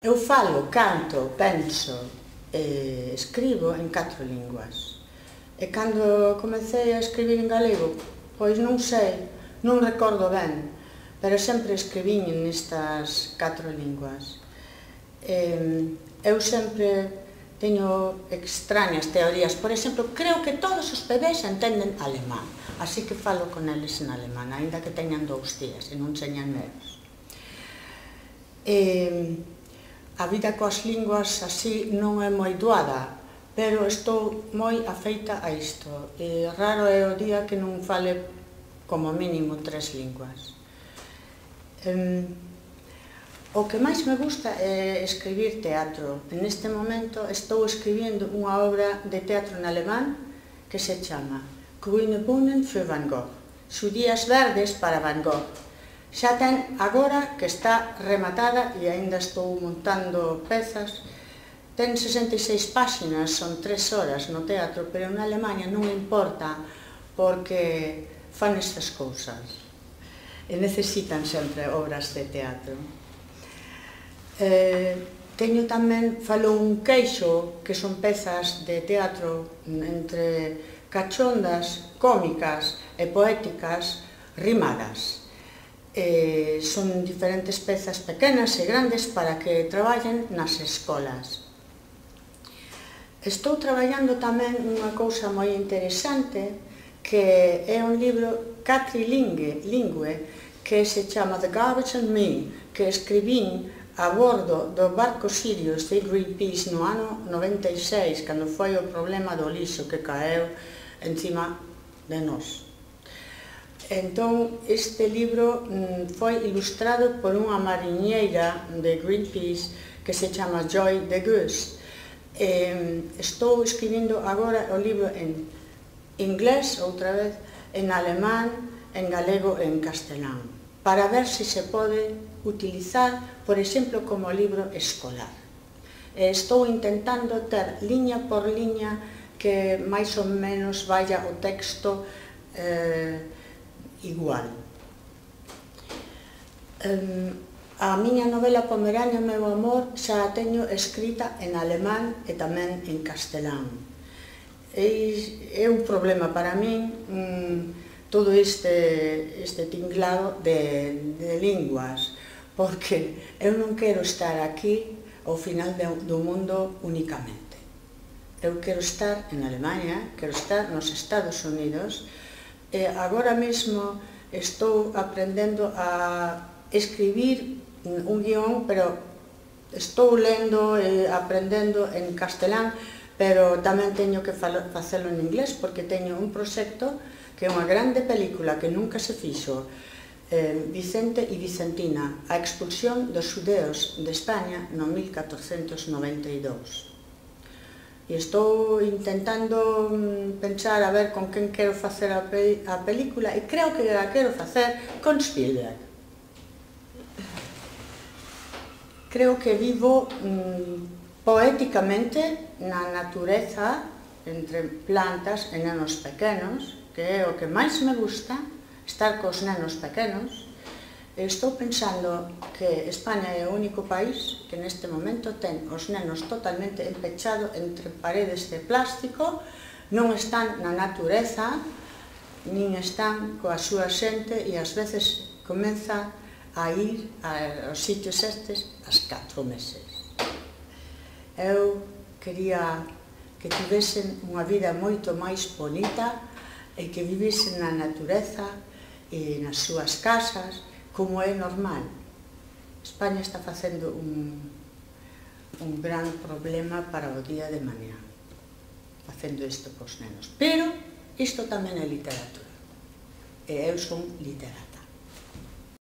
Eu falo, canto, penso e escribo en 4 linguas. E cando comecei a escribir en galego, pois non sei, non recordo ben, pero sempre escribín nestas 4 linguas. Eu sempre teño extrañas teorías. Por exemplo, creo que todos os bebés entenden alemán, así que falo con eles en alemán, aínda que teñan 2 días e non señan nenos. A vida coas linguas así non é moi doada, pero estou moi afeita a isto. Raro é o día que non fale como mínimo 3 linguas. O que máis me gusta é escribir teatro. Neste momento estou escribindo unha obra de teatro en alemán que se chama Grüne Bohnen für Van Gogh, Xudías verdes para Van Gogh. Xa ten agora que está rematada e aínda estou montando pezas. Ten 66 páxinas, son 3 horas no teatro, pero en Alemanha non importa porque fan estas cousas e necesitan sempre obras de teatro. Teño tamén, falo un queixo, que son pezas de teatro entre cachondas, cómicas e poéticas rimadas. Son diferentes pezas pequenas e grandes para que traballen nas escolas. Estou traballando tamén unha cousa moi interesante, que é un libro catrilingue, que se chama The Garbage and Me, que escribín a bordo do barco Sirius de Greenpeace no ano 96, cando foi o problema do lixo que caeu encima de nós. Entón, este libro foi ilustrado por unha mariñeira de Greenpeace que se chama Joy de Geus. Estou escribindo agora o libro en inglés, outra vez, en alemán, en galego e en castelán, para ver se se pode utilizar, por exemplo, como libro escolar. Estou intentando ter liña por liña que máis ou menos vaya o texto igual. A miña novela Pomerania, meu amor, xa a teño escrita en alemán e tamén en castelán. É un problema para min todo este tinglado de linguas, porque eu non quero estar aquí ao final do mundo únicamente. Eu quero estar en Alemanha, quero estar nos Estados Unidos. Agora mesmo estou aprendendo a escribir un guión, pero estou lendo e aprendendo en castelán, pero tamén teño que facelo en inglés, porque teño un proxecto que é unha grande película que nunca se fixo, Vicente e Vicentina, a expulsión dos xudeos de España no 1492. E estou intentando pensar a ver con quen quero facer a película, e creo que a quero facer con Spielberg. Creo que vivo poéticamente na natureza, entre plantas e nenos pequenos, que é o que máis me gusta, estar cos nenos pequenos. Estou pensando que España é o único país que neste momento ten os nenos totalmente empechados entre paredes de plástico, non están na natureza, nin están coa súa xente, e ás veces comeza a ir aos sitios estes ás 4 meses. Eu quería que tivesen unha vida moito máis bonita e que vivisen na natureza e nas súas casas, como é normal. España está facendo un gran problema para o día de mañá, facendo isto cos nenos. Pero isto tamén é literatura, e eu son literata.